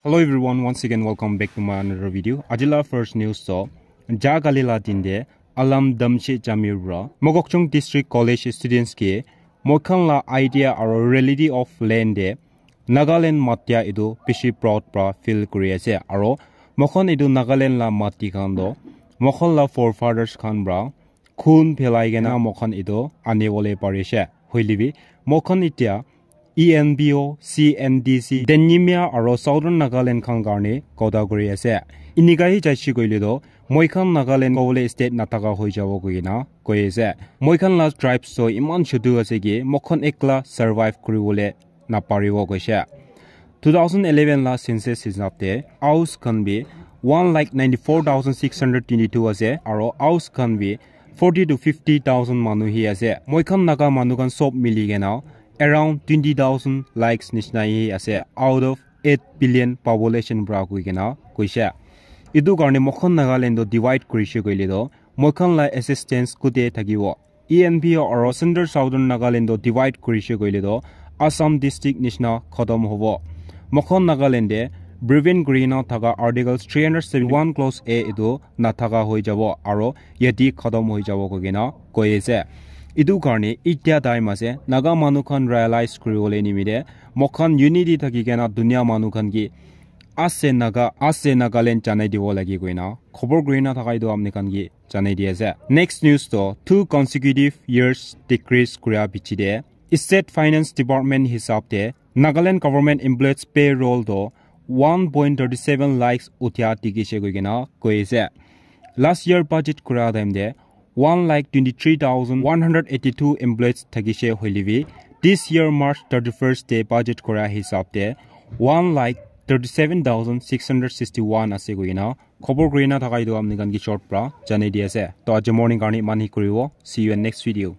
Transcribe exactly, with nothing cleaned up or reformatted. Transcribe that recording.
Hello everyone, once again welcome back to my another video. Ajila first news to, ja kali la din te Alam Damche Jamir pra Mokokchung District College students ke moikhan la idea aro reality of land te Nagaland matia etu bishi proud pra feel kuri ase. Aro moikhan etu Nagaland la mati khan to moikhan la forefathers khan pra khun phelai kena moikhan etu ani bole parishe. Hoile bi moikhan etia E N P O, C N D C, Denimia aro Southern Nagaland khan karne kotha kuri ase. Inika hi jaishi koile to moikhan Nagaland kobole state nathaka hoi jabo koina koi ase. Moikhan la tribes to iman chutu ase ki moikhan ekla survive kuri bole naparibo koishe. Two thousand eleven la census hisab te Aos khan bi one lakh ninety-four thousand six hundred twenty-two ase aro Aos khan bi forty to fifty thousand manu hi ase. Moikhan Naga manu khan sob mili kena around twenty thousand likes nishina hi ase out of eight billion population pra koi kena koishe. Etu karne moikhan Nagaland to divide kurishe koile to moikhan la existence kute thakibo. E N P O aro Central Southern Nagaland to divide kurishe koile to Assam district nishina khatam hobo. Moikhan Nagaland te prevent kurina thaka Article three hundred seventy-one clause A etu nathaka hoi jabo aro yate khatam hoi jabo koi kena koi ase. Etu karne etia time ase Naga manu khan realize kuri bole nimite moikhan unity thaki kena dunia manu khan ki ase Naga, ase Nagaland janai dibo lagi koina khobor kurina thaka etu apni khan ki janai di ase. Next news to two consecutive years decrease kura piche te State Finance Department hisab te Nagaland government employees payroll to one point thirty seven lakhs uthia dikhishe koi kena koi ase. Last year budget kura time te one lakh twenty-three thousand one hundred eighty-two employees thakishe hoile bi this year March thirty-first te budget kura hisab te one lakh thirty-seven thousand six hundred sixty-one ase koi kena khobor kurina thaka etu apni khan ki short pra janai di ase. To aji morning karne iman hi kuribo. See you in next video.